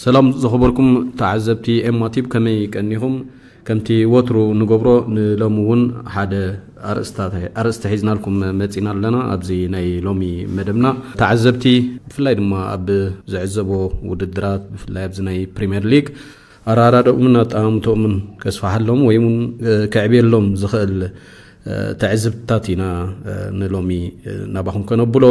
ሰላም ዝኸበርኩም ተዓዘብቲ ኤማ ቲብ፣ ከመይ ቀኒኹም? ከምቲ ወትሩ ንገብሮ፣ ንሎሚ እውን ሓደ ኣርእስታት-፣ ኣርእስቲ ሒዝናልኩም መጺና ኣለና። ኣብዚ ናይ ሎሚ መደብና ተዓዘብቲ፣ ብፍላይ ድማ ኣብ ዝዕዘቦ ውድድራት፣ ብፍላይ ኣብዚ ናይ ፕሪምየር ሊግ ኣረኣዳድኦምን ኣጠማምትኦምን ከስፍሓሎም ወይ እውን፣ እ፣ ከዕብየሎም ዝኽእል፣ እ፣ ትዕዝብትታት ኢና፣ እ፣ ንሎሚ፣ እ፣ ናባኹም ከነብሎ።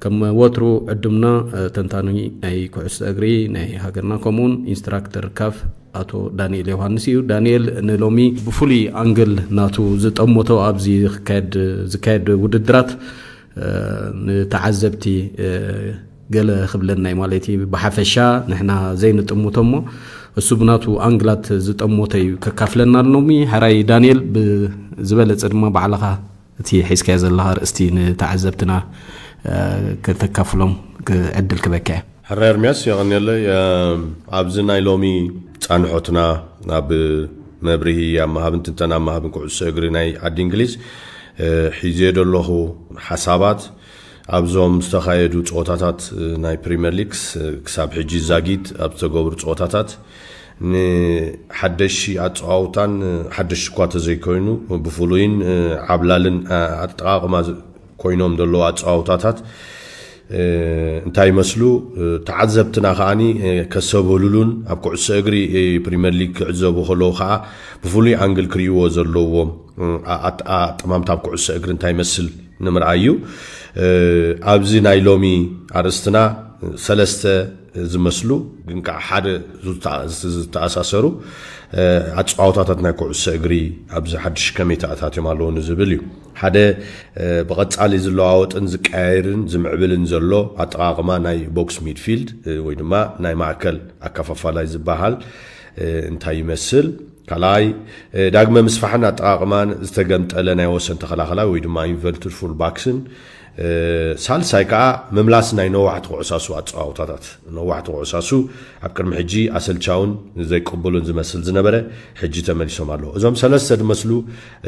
ከም ወትሩ ዕዱምና፣ እ፣ ተንታኒ ናይ ኩዕሶ እግሪ ናይ ሃገርና፣ ከምኡውን ኢንስትራክተር ካፍ ኣቶ ዳንኤል ዮሃንስ እዩ። ዳንኤል ንሎሚ ብፍሉይ ኣንግል ናቱ ዝጠመቶ ኣብዚ ዝካየድ፣ ዝካየድ ውድድራት፣ እ፣ ንተዓዘብቲ፣ እ፣ ገለ ክብለና እዩ ማለት እዩ። ብሓፈሻ ንሕና ዘይንጥምቶ እሞ እሱ ብናቱ ኣንግላት ዝጠመቶ እዩ ከካፍለና ሎሚ። ሕራይ ዳንኤል፣ ብዝበለጸ ድማ ባዕልኻ እቲ ሒዝካዮ ዘለኻ ኣርእስቲ ንተዓዘብትና፣ እ፣ ከተካፍሎም ክ-፣ ዕድል ክበካ እየ። ሕራይ ኤርምያስ፣ የቐንየለይ። እ፣ ኣብዚ ናይ ሎሚ ጻንሖትና ኣብ መብርሂ ኣብ ምሃብን ትንተና ኣብ ምሃብን ኩዕሶ እግሪ ናይ ዓዲ እንግሊዝ፣ እ፣ ሒዘዮ ዘለኹ ሓሳባት ኣብዞም ዝተኻየዱ ጸወታታት፣ እ፣ ናይ ፕሪምየር ሊግ፣ እ፣ ክሳብ ሕጂ ዛጊት ኣብ ዝተገብሩ ጸወታታት ንሓደሽቲ ኣጸዋውታን፣ እ፣ ሓደሽቲ እኳ ተዘይኮይኑ ብፍሉይን፣ እ፣ ዓብላልን፣ እ፣ ኣጠቓቕማ ዝ-፣ ኮይኖም ዘለዉ ኣጸዋውታታት፣ እ፣ እንታይ ይመስሉ፣ እ፣ ተዓዘብትና ከኣኒ፣ እ፣ ከሰበሉሉን ኣብ ኩዕሶ እግሪ፣ እ፣ ፕሪምየር ሊግ ክዕዘቡ ከለዉ ከኣ ብፍሉይ ኣንግል ክርእይዎ ዘለዎም፣ እ፣ ኣ-፣ ኣጥ-፣ ኣጠማምታ ኣብ ኩዕሶ እግሪ እንታይ ይመስል ንምርኣይ እዩ። እ፣ ኣብዚ ናይ ሎሚ ኣርእስትና ሰለስተ ዝመስሉ ግን ከዓ ሓደ ዝተ-፣ ዝተኣሳሰሩ፣ እ፣ ኣጸዋውታታት ናይ ኩዕሶ እግሪ ኣብዚ ሓድሽ ከመይ ተኣታትዮም ኣለዉ ንዝብል እዩ። ሓደ፣ እ፣ ብቐጻሊ ዝለዋወጥን ዝቀያየርን ዝምዕብልን ዘሎ ኣጠቓቕማ ናይ ቦክስ ሚድፊልድ፣ እ፣ ወይ ድማ ናይ ማእከል ኣከፋፋላይ ዝበሃል፣ እ፣ እንታይ ይመስል? ካልኣይ፣ እ፣ ዳግመ ምስፋሕን ኣጠቓቕማን ዝተገምጠለ ናይ ወሰን ተኸላኸላይ ወይ ድማ ኢንቨርትድ ፉል ባክስን፣ እ፣ ሳልሳይ ከዓ ምምላስ ናይ ነዋሕቲ ኩዕሳሱ ኣጸዋውታታት። ነዋሕቲ ኩዕሳሱ ኣብ ቅድሚ ሕጂ ኣሰልቻውን ዘይቅቡልን ዝመስል ዝነበረ፣ ሕጂ ተመሊሶም ኣለዉ። እዞም ሰለስተ ዝመስሉ፣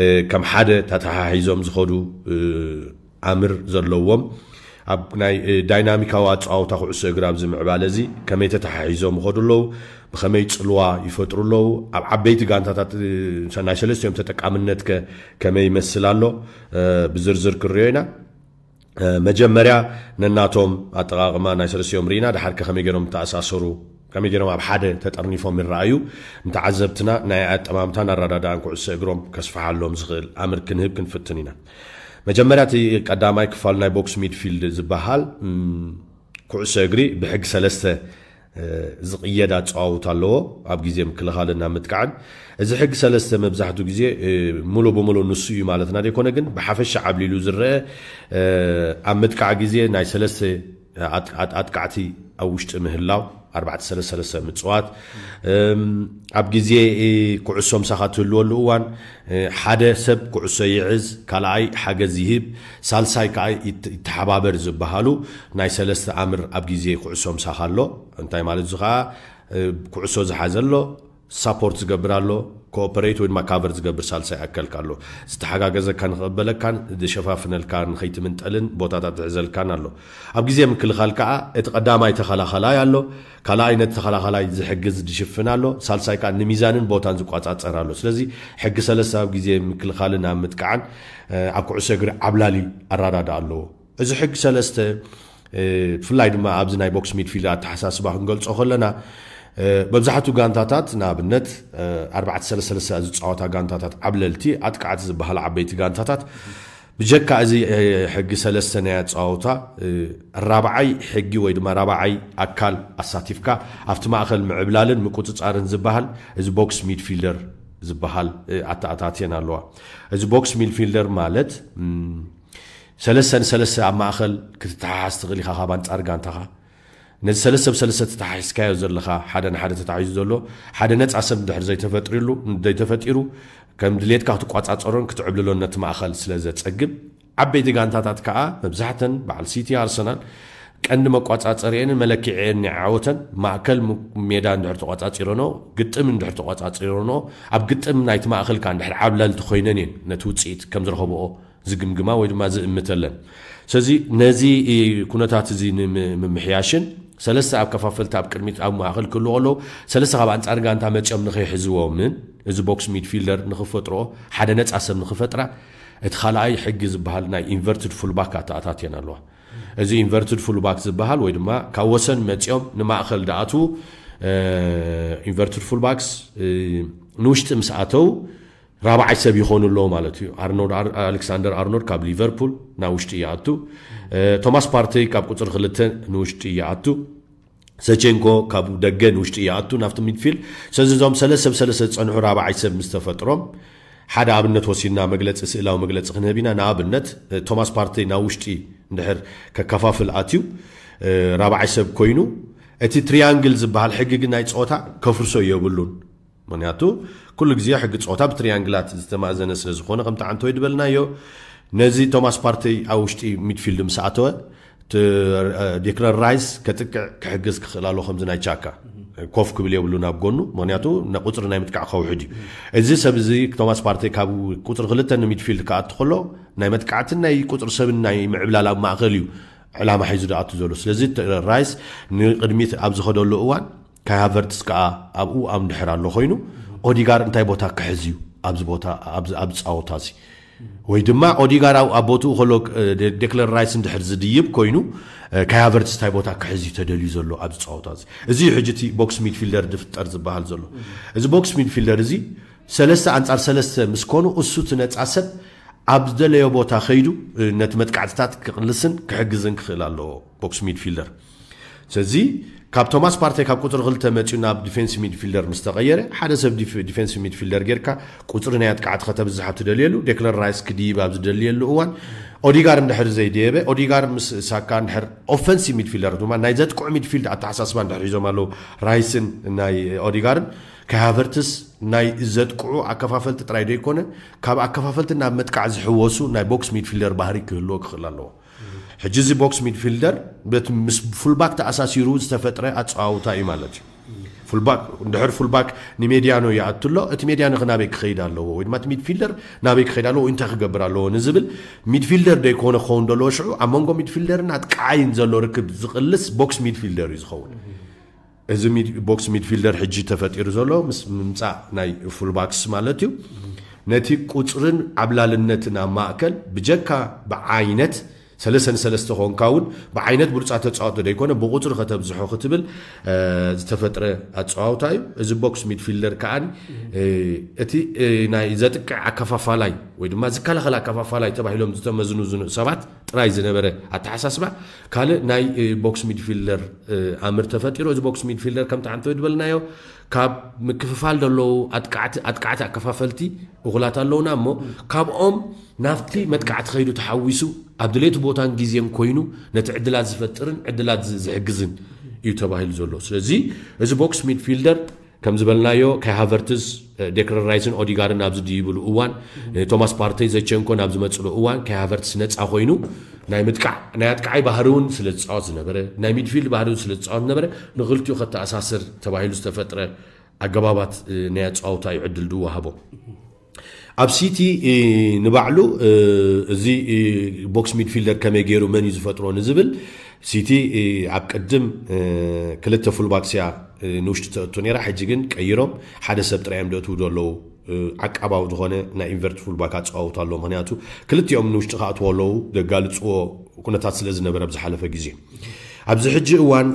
እ፣ ከም ሓደ ተተሓሒዞም ዝኸዱ፣ እ፣ ኣምር ዘለዎም፣ ኣብ ናይ፣ እ፣ ዳይናሚካዊ ኣጸዋውታ ኩዕሶ እግሪ ኣብዚ ምዕባለ እዚ ከመይ ተተሓሒዞም ይኸዱ ኣለዉ፣ ብኸመይ ጽልዋ ይፈጥሩ ኣለዉ፣ ኣብ ዓበይቲ ጋንታታት፣ እ፣ ናይ ሰለስቲኦም ተጠቃምነት ከ ከመይ ይመስል ኣሎ፣ እ፣ ብዝርዝር ክንሪኦ ኢና። እ፣ መጀመርያ ነናቶም ኣጠቓቕማ ናይ ሰለስቲኦም ርኢና፣ ድሓር ከ ከመይ ገይሮም ተኣሳሰሩ፣ ከመይ ገይሮም ኣብ ሓደ ተጠርኒፎም ይረኣዩ፣ ንተዓዘብትና ናይ ኣጠማምታን ኣረዳድኣን ኩዕሶ እግሮም ከስፍሓሎም ዝኽእል ኣምር ክንህብ ክንፍትን ኢና። መጀመርያ እቲ ቀዳማይ ክፋል ናይ ቦክስ ሚድፊልድ ዝበሃል፣ እም፣ ኩዕሶ እግሪ ብሕጊ ሰለስተ፣ እ፣ ዝቕየድ ኣጸዋውታ ኣለዎ፣ ኣብ ግዜ ምክልኻልን ኣብ ምጥቃዕን። እዚ ሕጊ ሰለስተ መብዛሕትኡ ግዜ፣ እ፣ ሙሉ ብሙሉ ንሱ እዩ ማለትና ዘይኮነ፣ ግን ብሓፈሻ ዓብሊሉ ዝረአ፣ እ፣ ኣብ ምጥቃዕ ግዜ ናይ ሰለስተ ኣጥ-፣ ኣጥ-፣ ኣጥቃዕቲ ኣብ ውሽጢ ምህላው፣ ኣርባዕተ ሰለስተ ሰለስተ ምጽዋት፣ እም፣ ኣብ ግዜ፣ እ፣ ኩዕሶ ምሳኻ ትህልወሉ እዋን፣ እ፣ ሓደ ሰብ ኩዕሶ ይዕዝ፣ ካልኣይ ሓገዝ ይህብ፣ ሳልሳይ ከኣ ይት-፣ ይተሓባበር ዝበሃሉ ናይ ሰለስተ ኣምር ኣብ ግዜ ኩዕሶ ምሳኻ ኣሎ። እንታይ ማለት እዚ ከኣ፣ እ፣ ኩዕሶ ዝሓዘ ኣሎ፣ ሳፖርት ዝገብር ኣሎ፣ ኮኦፐሬት ወይ ድማ ካቨር ዝገብር ሳልሳይ ኣካልካ ኣሎ። ዝተሓጋገዘካ ንኽቕበለካን ዝሸፋፍነልካ ንኸይትምንጠልን ቦታታት ዝሕዘልካን ኣሎ። ኣብ ግዜ ምክልኻል ከኣ እቲ ቀዳማይ ተኸላኸላይ ኣሎ፣ ካልኣይ ነቲ ተኸላኸላይ ዝሕግዝ ዝሽፍን ኣሎ፣ ሳልሳይ ከኣ ንሚዛንን ቦታን ዝቋጻጸር ኣሎ። ስለዚ ሕጊ ሰለስተ ኣብ ግዜ ምክልኻልን ኣብ ምጥቃዕን፣ እ፣ ኣብ ኩዕሶ እግሪ ዓብላሊ ኣራዳድኣ ኣለዎ። እዚ ሕጊ ሰለስተ፣ እ፣ ብፍላይ ድማ ኣብዚ ናይ ቦክስ ሚድፊልድ ኣተሓሳስባ ክንገልጾ ከለና፣ እ፣ መብዛሕትኡ ጋንታታት ንኣብነት፣ እ፣ ኣርባዕተ ሰለስተ ሰለስተ ዝጻወታ ጋንታታት ዓብለልቲ ኣጥቃዕቲ ዝበሃላ ዓበይቲ ጋንታታት ብጀካ እዚ፣ እ፣ ሕጊ ሰለስተ ናይ ኣጻወታ፣ እ፣ ራብዓይ ሕጊ ወይ ድማ ራብዓይ ኣካል ኣሳቲፍካ ኣብቲ ማእከል ምዕብላልን ምቁጽጻርን ዝበሃል እዚ ቦክስ ሚድፊልደር ዝበሃል፣ እ፣ ኣተኣታትየን ኣለዋ። እዚ ቦክስ ሚድፊልደር ማለት፣ እም፣ ሰለስተ ንሰለስተ ኣብ ማእከል ክትተሓሓዝ ትኽእል ኢኻ ካብ ኣንጻር ጋንታኻ። ነዚ ሰለስተ ብሰለስተ ተተሓሒዝካዮ ዘለኻ፣ ሓደ ንሓደ ተታሒዙ ዘሎ ሓደ ነጻ ሰብ እንድሕር ዘይተፈጥርሉ-፣ ዘይተፈጢሩ፣ ከም ድሌትካ ክትቋጻጸሮን ክትዕብልሎን ነቲ ማእከል ስለ ዘጸግም፣ ዓበይቲ ጋንታታት ከኣ መብዛሕተን በዓል ሲቲ፣ ኣርሰናል ቀንዲ መቋጻጸሪኤንን መለክዒኤን ናይ ዓወተን ማእከል ም-፣ ሜዳ እንድሕር ተቋጻጺሮኖ፣ ግጥም እንድሕር ተቋጻጺሮኖ፣ ኣብ ግጥም ናይቲ ማእከልካ እንድሕር ዓብላልቲ ኮይነን እየን ነቲ ውጽኢት ከም ዝረኸብኦ ዝግምግማ ወይ ድማ ዝእምተለን። ስለዚ ነዚ ኩነታት እዚ ንምምሕያሽን ሰለስተ ኣከፋፈልቲ ኣብ ቅድሚት ኣብ ማእኸል ክህልዎ ኣለዉ። ሰለስተ ካብ ኣንጻር ጋንታ መጺኦም ንኸይሕዝዎምን እዚ ቦክስ ሚድፊልደር ንኽፈጥሮ ሓደ ነጻ ሰብ ንኽፈጥራ እቲ ካልኣይ ሕጊ ዝበሃል ናይ ኢንቨርትድ ፉልባክ ኣተኣታትየን ኣለዋ። እዚ ኢንቨርትድ ፉልባክ ዝበሃል ወይ ድማ ካብ ወሰን መጺኦም ንማእኸል ደኣትዉ ኢንቨርትድ ፉልባክስ ንውሽጢ ምስ ኣተው ራብዓይ ሰብ ይኾኑ ኣለዎ ማለት እዩ። ኣርኖልድ ኣር- ኣሌክሳንደር ኣርኖልድ ካብ ሊቨርፑል ናብ ውሽጢ ይኣቱ። ቶማስ ፓርተይ ካብ ቁፅሪ ክልተ ንውሽጢ ይኣቱ። ዘቼንኮ ካብ ደገ ንውሽጢ ይኣቱ ናብቲ ሚድፊልድ። ስለዚ እዞም ሰለስተ ሰብ ሰለስተ ዝፀንሑ ራብዓይ ሰብ ምስ ተፈጥሮም ሓደ ኣብነት ወሲድና መግለፂ ስእላዊ መግለፂ ክንህብ ኢና። ንኣብነት ቶማስ ፓርተይ ናብ ውሽጢ እንድሕር ከከፋፍል ኣትዩ ራብዓይ ሰብ ኮይኑ እቲ ትሪያንግል ዝበሃል ሕጊ ግን ናይ ፀወታ ከፍርሶ የብሉን። ምክንያቱ ኩሉ ግዜ ሕጊ ፀወታ ብትሪያንግላት ዝተማእዘነ ስለ ዝኾነ ከምቲ ዓንተወይ ዝበልናዮ ነዚ ቶማስ ፓርተይ ኣብ ውሽጢ ሚድፊልድ ምስ ኣተወ ዴክለን ራይስ ከጥቅዕ ክሕግዝ ክኽእል ኣሎ ከምዚ ናይ ቻካ ኮፍ ክብል የብሉን ኣብ ጎኑ። ምክንያቱ ቁፅሪ ናይ ምጥቃዕ ከውሕድ እዩ። እዚ ሰብ እዚ ቶማስ ፓርተይ ካብ ቁፅሪ ክልተ ንሚድፊልድ ክኣቱ ከሎ ናይ መጥቃዕትን ናይ ቁፅሪ ሰብን ናይ ምዕብላል ኣብ ማእኸል እዩ ዕላማ ሒዙ ዝኣቱ ዘሎ። ስለዚ ራይስ ንቅድሚት ኣብ ዝኸደሉ እዋን ካይ ሃቨርትስ ከዓ ኣብኡ ኣብ ድሕር ኣሎ ኮይኑ ኦዲጋር እንታይ ቦታ ክሕዝ እዩ ኣብዚ ቦታ ኣብዚ ኣብዚ ፃወታ እዚ ወይ ድማ ኦዲጋር ኣብ ኣብ ቦትኡ ከሎ ዴክለን ራይስ እንድሕር ዝድይብ ኮይኑ ካይ ሃቨርትስ እንታይ ቦታ ክሕዝ እዩ ተደልዩ ዘሎ ኣብዚ ፃወታ እዚ። እዚ እዩ ሕጂ እቲ ቦክስ ሚድፊልደር ዝፍጠር ዝበሃል ዘሎ። እዚ ቦክስ ሚድፊልደር እዚ ሰለስተ ኣንፃር ሰለስተ ምስ ኮኑ እሱ እቲ ነፃ ሰብ ኣብ ዝደለዮ ቦታ ከይዱ ነቲ መጥቃዕትታት ክቕልስን ክሕግዝን ክኽእል ኣለዎ ቦክስ ሚድፊልደር። ስለዚ ካብ ቶማስ ፓርተይ ካብ ቁፅሪ ክልተ መፂኡ ናብ ዲፌንስ ሚድፊልደር ምስ ተቐየረ ሓደ ሰብ ዲፌንስ ሚድፊልደር ጌርካ ቁፅሪ ናይ ኣጥቃዕቲ ከተብዝሕ ኣብ ትደልየሉ ዴክለን ራይስ ክድይብ ኣብ ዝደልየሉ እዋን ኦዲጋር እንድሕር ዘይደየበ ኦዲጋር ምስ ሳካ እንድሕር ኦፈንሲቭ ሚድፊልደር ድማ ናይ ዘጥቅዑ ሚድፊልድ ኣተሓሳስባ እንድሕር ሒዞም ኣለዉ ራይስን ናይ ኦዲጋርን ካይ ሃቨርትስ ናይ ዘጥቅዑ ኣከፋፈልቲ ጥራይ ዘይኮነ ካብ ኣከፋፈልቲ ናብ መጥቃዕ ዝሕወሱ ናይ ቦክስ ሚድፊልደር ባህሪ ክህልዎ ክኽእል ኣለዎ። ሕጂ እዚ ቦክስ ሚድፊልደር በቲ ምስ ፉልባክ ተኣሳሲሩ ዝተፈጥረ ኣፀዋውታ እዩ ማለት እዩ። ፉልባክ እንድሕር ፉልባክ ንሜድያኖ ይኣቱ ኣሎ እቲ ሜድያኖ ናበይ ክኸይድ ኣለዎ ወይ ድማ እቲ ሚድፊልደር ናበይ ክኸይድ ኣለዎ እንታይ ክገብር ኣለዎ ንዝብል ሚድፊልደር ዘይኮነ ክኸውን ዘለዎ ሽዑ ኣብ መንጎ ሚድፊልደርን ኣጥቃዓይን ዘሎ ርክብ ዝቕልስ ቦክስ ሚድፊልደር እዩ ዝኸውን። እዚ ቦክስ ሚድፊልደር ሕጂ ተፈጢሩ ዘሎ ምስ ምምፃእ ናይ ፉልባክስ ማለት እዩ። ነቲ ቁፅርን ዓብላልነትን ኣብ ማእከል ብጀካ ብዓይነት ሰለስተ ንሰለስተ ኮንካ እውን ብዓይነት ብሉፃት ተፃወቶ ዘይኮነ ብቁፅሪ ከተብዝሖ ክትብል ዝተፈጥረ ኣፀዋውታ እዩ። እዚ ቦክስ ሚድፊልደር ከዓ እቲ ናይ ዘጥቅዕ ኣከፋፋላይ ወይ ድማ ዝከላኸል ኣከፋፋላይ ተባሂሎም ዝተመዝኑ ሰባት ጥራይ ዝነበረ ኣተሓሳስባ ካልእ ናይ ቦክስ ሚድፊልደር ኣምር ተፈጢሩ። እዚ ቦክስ ሚድፊልደር ከምቲ ዓንተወይ ዝበልናዮ ካብ ምክፍፋል ዘለዉ ኣጥቃዕቲ ኣጥቃዕቲ ኣከፋፈልቲ እኹላት ኣለውና እሞ ካብኦም ናብቲ መጥቃዕቲ ከይዱ ተሓዊሱ ኣብ ድሌቱ ቦታን ግዜን ኮይኑ ነቲ ዕድላት ዝፈጥርን ዕድላት ዝሕግዝን እዩ ተባሂሉ ዘሎ። ስለዚ እዚ ቦክስ ሚድፊልደር ከም ዝበልናዮ ካይ ሃቨርትዝ ዴክለን ራይስን ኦዲጋርን ኣብ ዝድይብሉ እዋን ቶማስ ፓርተይ ዘቸንኮ ናብ ዝመፅሉ እዋን ካይ ሃቨርትስ ነፃ ኮይኑ ናይ ምጥቃዕ ናይ ኣጥቃዓይ ባህሪ እውን ስለ ዝፃወት ዝነበረ ናይ ሚድፊልድ ባህሪ እውን ስለ ዝፃወት ዝነበረ ንክልቲኡ ከተኣሳስር ተባሂሉ ዝተፈጥረ ኣገባባት ናይ ኣፃውታ እዩ ዕድል ዝወሃቦ። ኣብ ሲቲ ንባዕሉ እዚ ቦክስ ሚድፊልደር ከመይ ገይሩ መን እዩ ዝፈጥሮ ንዝብል ሲቲ ኣብ ቅድም ክልተ ፉልባክስ እያ ንውሽጢ ተእቱ ነራ። ሕጂ ግን ቀይሮም ሓደ ሰብ ጥራይ እዮም ዘእትዉ ዘለዉ። ዓቃባዊ ዝኾነ ናይ ኢንቨርት ፉልባክ ኣፀዋውታ ኣሎ። ምክንያቱ ክልቲኦም ንውሽጢ ክኣትዎ ኣለዉ ዘጋልፅዎ ኩነታት ስለ ዝነበረ ኣብ ዝሓለፈ ግዜ ኣብዚ ሕጂ እዋን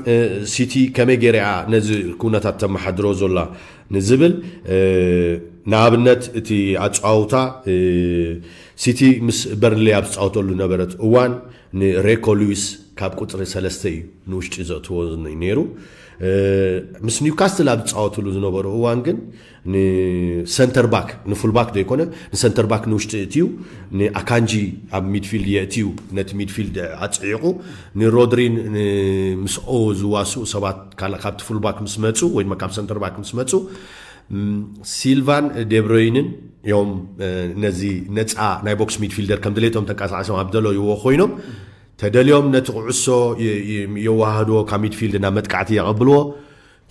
ሲቲ ከመይ ገይራ እያ ነዚ ኩነታት ተመሓድሮ ዘላ ንዝብል ንኣብነት እቲ ኣፀዋውታ ሲቲ ምስ በርንሌ ኣብ ዝፃወተሉ ነበረት እዋን ንሬኮ ሉዊስ ካብ ቁፅሪ ሰለስተ እዩ ንውሽጢ ዘእትዎ ነይሩ። ምስ ኒውካስትል ኣብ ዝፃወትሉ ዝነበሩ እዋን ግን ንሰንተር ባክ ንፉል ባክ ዘይኮነ ንሰንተር ባክ ንውሽጢ እትዩ ንኣካንጂ ኣብ ሚድፊልድ የእትዩ ነቲ ሚድፊልድ ኣፅዒቑ ንሮድሪን ምስኦ ዝዋስኡ ሰባት ካልእ ካብቲ ፉል ባክ ምስ መፁ ወይ ድማ ካብ ሰንተር ባክ ምስ መፁ ሲልቫን ዴብሮይንን እዮም ነዚ ነፃ ናይ ቦክስ ሚድፊልደር ከም ድሌቶም ተንቀሳቀሶም ኣብ ደለይዎ ኮይኖም ተደልዮም ነቲ ኩዕሶ የዋሃድዎ ካብ ሚድፊልድ ናብ መጥቃዕቲ የቐብልዎ።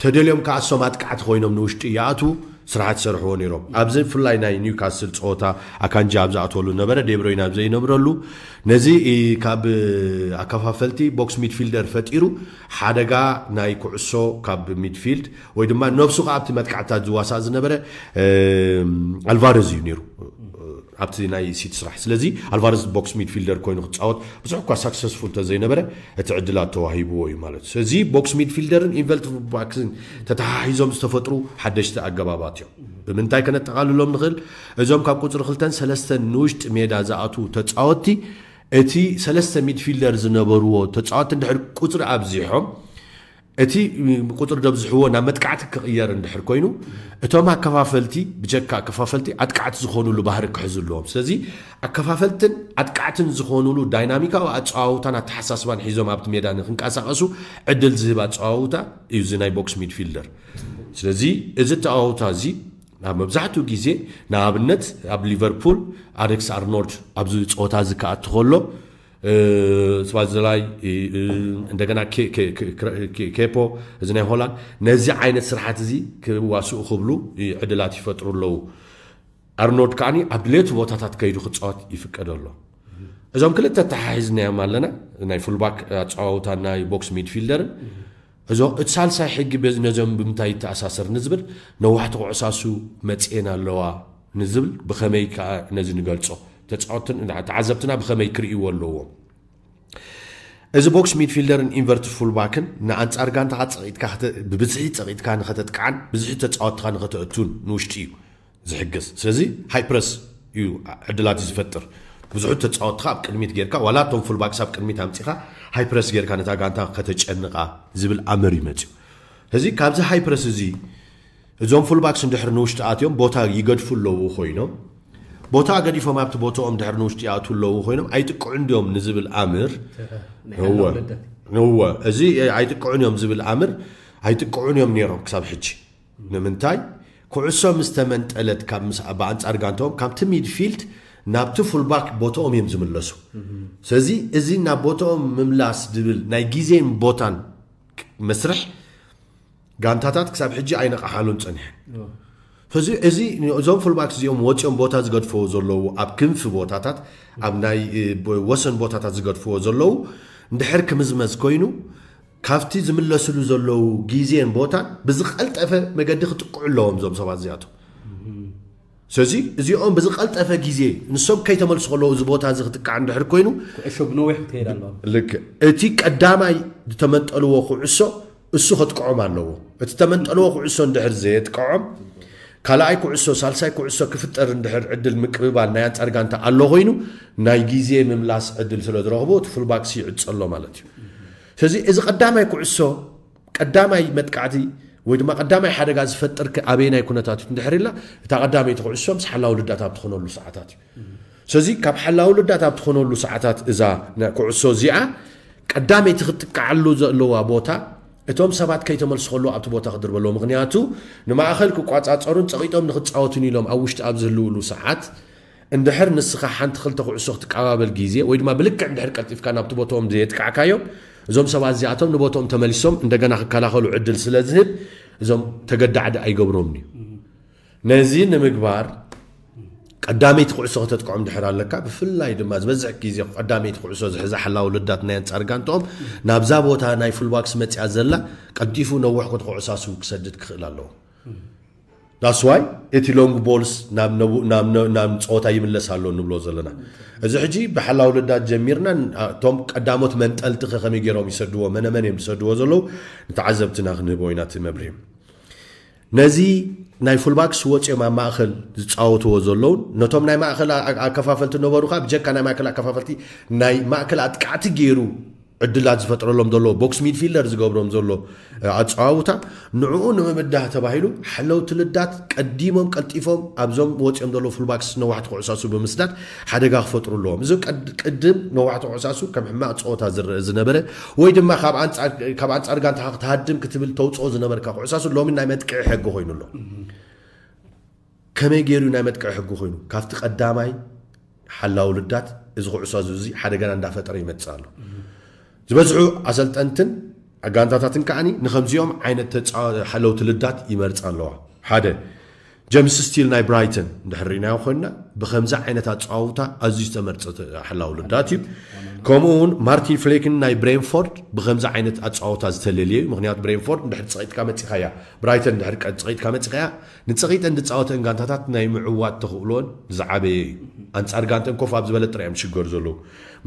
ተደልዮም ከዓ እሶም ኣጥቃዕቲ ኮይኖም ንውሽጢ ይኣትዉ። ስራሓት ይሰርሕዎ ነይሮም። ኣብዚ ብፍላይ ናይ ኒውካስል ፀወታ ኣካንጂ ኣብ ዝኣትወሉ ነበረ፣ ዴብሮይን ኣብ ዘይነብረሉ ነዚ ካብ ኣከፋፈልቲ ቦክስ ሚድፊልደር ፈጢሩ ሓደጋ ናይ ኩዕሶ ካብ ሚድፊልድ ወይ ድማ ነብሱ ከዓ ኣብቲ መጥቃዕታት ዝዋሳእ ዝነበረ ኣልቫረዝ እዩ ነይሩ ኣብቲ ናይ ሲቲ ስራሕ። ስለዚ ኣልቫረዝ ቦክስ ሚድፊልደር ኮይኑ ክፃወት ብዙሕ እኳ ሳክሰስፉል ተዘይነበረ እቲ ዕድላት ተዋሂብዎ እዩ ማለት እዩ። ስለዚ ቦክስ ሚድፊልደርን ኢንቨርትድ ፉልባክስን ተተሓሒዞም ዝተፈጥሩ ሓደሽቲ ኣገባባት እዮም። ብምንታይ ከነጠቓልሎም ንኽእል? እዞም ካብ ቁፅሪ ክልተን ሰለስተን ንውሽጢ ሜዳ ዝኣትዉ ተፃወትቲ እቲ ሰለስተ ሚድፊልደር ዝነበርዎ ተፃወትቲ እንድሕር ቁፅሪ ኣብዚሖም እቲ ቁፅሪ ደብዝሕዎ ናብ መጥቃዕቲ ክቕየር እንድሕር ኮይኑ እቶም ኣከፋፈልቲ ብጀካ ኣከፋፈልቲ ኣጥቃዕቲ ዝኾኑሉ ባህሪ ክሕዙ ኣለዎም። ስለዚ ኣከፋፈልትን ኣጥቃዕትን ዝኾኑሉ ዳይናሚካዊ ኣፀዋውታን ኣተሓሳስባን ሒዞም ኣብቲ ሜዳ ንክንቀሳቐሱ ዕድል ዝህብ ኣፀዋውታ እዩ እዚ ናይ ቦክስ ሚድፊልደር። ስለዚ እዚ ኣተዋውታ እዚ ኣብ መብዛሕትኡ ግዜ ንኣብነት ኣብ ሊቨርፑል ኣሌክስ ኣርኖልድ ኣብዚ ፀወታ እዚ ክኣቱ ከሎ ስባዝላይ እንደገና ኬፖ እዚ ናይ ሆላንድ ነዚ ዓይነት ስርሓት እዚ ክዋስኡ ክብሉ ዕድላት ይፈጥሩ ኣለዉ። ኣርኖልድ ከዓኒ ኣብ ድሌቱ ቦታታት ከይዱ ክፃወት ይፍቀደሎ። እዞም ክልተ ተሓሒዝናዮም ኣለና፣ ናይ ፉልባክ ኣፀዋውታ ናይ ቦክስ ሚድፊልደርን እዞ እቲ ሳልሳይ ሕጊ በዚ ነዞም ብምንታይ ይተኣሳሰር ንዝብል ነዋሕቲ ኩዕሳሱ መፅኤን ኣለዋ ንዝብል ብኸመይ ከዓ ነዚ ንገልፆ? ተፃወትን ተዓዘብትና ብኸመይ ክርእይዎ ኣለዎም? እዚ ቦክስ ሚድፊልደርን ኢንቨርትድ ፉልባክን ንኣንፃር ጋንታኻ ፀቒጥካ ብብዝሒ ፀቒጥካ ንኸተጥቅዓን ብዝሒ ተፃወትካ ንኸተእቱን ንውሽጢ እዩ ዝሕግዝ። ስለዚ ሃይ ፕረስ እዩ ዕድላት ዝፈጥር። ብዙሑ ተፃወትካ ኣብ ቅድሚት ጌርካ ዋላ እቶም ፉልባክስ ኣብ ቅድሚት ኣምፂኻ ሃይ ፕረስ ጌርካ ነታ ጋንታ ከተጨንቓ ዝብል ኣምር እዩ መፅዩ። እዚ ካብዚ ሃይ ፕረስ እዚ እዞም ፉልባክስ እንድሕር ንውሽጢ ኣትዮም ቦታ ይገድፉ ኣለዉ ኮይኖም ቦታ ገዲፎም ኣብቲ ቦታኦም ድሕር ንውሽጢ ይኣትዉ ኣለዉ ኮይኖም ኣይጥቅዑ እንዲዮም ንዝብል ኣምር እወ እዚ ኣይጥቅዑን እዮም ዝብል ኣምር ኣይጥቅዑን እዮም ነይሮም ክሳብ ሕጂ። ንምንታይ? ኩዕሶ ምስ ተመንጠለት ካብ ምስ ብኣንጻር ጋንታኦም ካብቲ ሚድፊልድ ናብቲ ፉልባክ ቦታኦም እዮም ዝምለሱ። ስለዚ እዚ ናብ ቦታኦም ምምላስ ዝብል ናይ ግዜን ቦታን መስርሕ ጋንታታት ክሳብ ሕጂ ኣይነቕሓሉን ጸኒሐን። ስለዚ እዚ እዞም ፉልባክ እዚኦም ወፂኦም ቦታ ዝገድፍዎ ዘለዉ ኣብ ክንፊ ቦታታት ኣብ ናይ ወሰን ቦታታት ዝገድፍዎ ዘለዉ እንድሕር ክምዝመዝ ኮይኑ ካብቲ ዝምለስሉ ዘለዉ ግዜን ቦታን ብዝቐልጠፈ መገዲ ክጥቅዑ ኣለዎም እዞም ሰባት እዚኣቶም። ስለዚ እዚኦም ብዝቐልጠፈ ግዜ ንሶም ከይተመልሱ ከለዉ እዚ ቦታ እዚ ክጥቃዕ እንድሕር ኮይኑ ኩዕሾ ብነዊሕ ክትከይድ ኣለዋ። ልክ እቲ ቀዳማይ ዝተመንጠልዎ ኩዕሶ እሱ ከጥቅዖም ኣለዎ። እቲ ተመንጠልዎ ኩዕሶ እንድሕር ዘየጥቅዖም ካልኣይ ኩዕሶ ሳልሳይ ኩዕሶ ክፍጠር እንድሕር ዕድል ምቅብባል ናይ ኣንጻር ጋንታ ኣሎ ኮይኑ ናይ ግዜ ምምላስ ዕድል ስለ ዝረኽቡ እቲ ፉልባክሲ ይዕጸሎ ማለት እዩ። ስለዚ እዚ ቀዳማይ ኩዕሶ ቀዳማይ መጥቃዕቲ ወይ ድማ ቀዳማይ ሓደጋ ዝፈጥር ኣበየናይ ኩነታት እዩ እንድሕር ኢልና እታ ቀዳመይቲ ኩዕሶ ምስ ሓላው ልዳት ኣብ ትኾነሉ ሰዓታት እዩ። ስለዚ ካብ ሓላው ልዳት ኣብ ትኾነሉ ሰዓታት እዛ ኩዕሶ እዚኣ ቀዳመይቲ ክትጥቃዓሉ ዘለዋ ቦታ እቶም ሰባት ከይተመልሱ ከለዉ ኣብቲ ቦታ ክድርበ ኣለዎ። ምክንያቱ ንማእኸል ክቋፃፀሩን ፀቂጦም ንክፃወቱን ኢሎም ኣብ ውሽጢ ኣብ ዝህልውሉ ሰዓት እንድሕር ንስኻ ሓንቲ ክልተ ኩዕሶ ክትቀባበል ግዜ ወይ ድማ ብልክዕ እንድሕር ቀልጢፍካ ናብቲ ቦታኦም ዘየጥቃዕካዮም እዞም ሰባት እዚኣቶም ንቦታኦም ተመሊሶም እንደገና ክከላኸሉ ዕድል ስለ ዝህብ እዞም ተገዳዕዲ ኣይገብሮምን እዩ። ነዚ ንምግባር ቀዳመይቲ ኩዕሶ ከተጥቅዖም ድሕር ኣለካ ብፍላይ ድማ ዝበዝሕ ግዜ ቀዳመይቲ ኩዕሶ ዝሕዛ ሓላው ልዳት ናይ ኣንጻር ጋንትኦም ናብዛ ቦታ ናይ ፉልባክስ መጽያ ዘላ ቀልጢፉ ነዊሕ ክትኩዕሳሱ ክሰድድ ክኽእል ኣለዎ። ዳስዋይ እቲ ሎንግ ቦልስ ናብ ጸወታ ይምለስ ኣሎ ንብሎ ዘለና። እዚ ሕጂ ብሓላው ልዳት ጀሚርና እቶም ቀዳሞት መንጠልቲ ከመይ ገይሮም ይሰድዎ መነመን እዮም ዝሰድዎ ዘለዉ ንተዓዘብትና ክንህቦ ኢና እቲ መብርሂ። ነዚ ናይ ፉልባክስ ወፂኦም ኣብ ማእኸል ዝፃወትዎ ዘለውን ነቶም ናይ ማእኸል ኣከፋፈልቲ ነበሩ ከዓ ብጀካ ናይ ማእከል ኣከፋፈልቲ ናይ ማእከል ኣጥቃዕቲ ገይሩ ዕድላት ዝፈጥረሎም ዘሎ ቦክስ ሚድፊልደር ዝገብሮም ዘሎ ኣፀዋውታ ንዕኡ ንምምዳህ ተባሂሉ ሓለውቲ ልዳት ቀዲሞም ቀልጢፎም ኣብዞም ወፂኦም ዘለዉ ፉልባክስ ነዋሕቲ ኩዕሳሱ ብምስዳድ ሓደጋ ክፈጥሩ ኣለዎም። እዚ ቅድም ነዋሕቲ ኩዕሳሱ ከም ሕማቕ ፀወታ ዝረአ ዝነበረ ወይ ድማ ካብ ኣንፃር ጋንታኻ ክትሃድም ክትብል ተውፅኦ ዝነበርካ ኩዕሳሱ ሎሚ ናይ መጥቅዒ ሕጊ ኮይኑ ኣሎ። ከመይ ገይሩ ናይ መጥቅዒ ሕጊ ኮይኑ ካብቲ ቀዳማይ ሓላው ልዳት እዚ ኩዕሳሱ እዚ ሓደጋና እንዳፈጠረ ይመፅእ ኣሎ። ዝበዝሑ ኣሰልጠንትን ጋንታታትን ከዓኒ ንከምዚኦም ዓይነት ሓለውቲ ልዳት ይመርፃ ኣለዋ። ሓደ ጀምስ ስቲል ናይ ብራይተን እንድሕር ርኢናዮ ኮይንና፣ ብከምዚ ዓይነት ኣጸዋውታ ኣዝዩ ዝተመርጸ ተ- ሓላው ልዳት እዩ። ከምኡ እውን ማርቲን ፍሌክን ናይ ብሬንፎርድ ብከምዚ ዓይነት ኣጸዋውታ ዝተለልየ እዩ። ምክንያቱ ብሬንፎርድ እንድሕር ጸቂጥካ መጺኻያ፣ ብራይተን እንድሕር ቀ- ጸቂጥካ መጺኻያ፣ ንጸቂጠን ዝጻወተን ጋንታታት ናይ ምዕዋት ተኽእሎን ዝዓበየ እዩ። ኣንጻር ጋንተን ኮፍ ኣብ ዝበለ ጥራይ እዮም ሽገር ዘለዉ።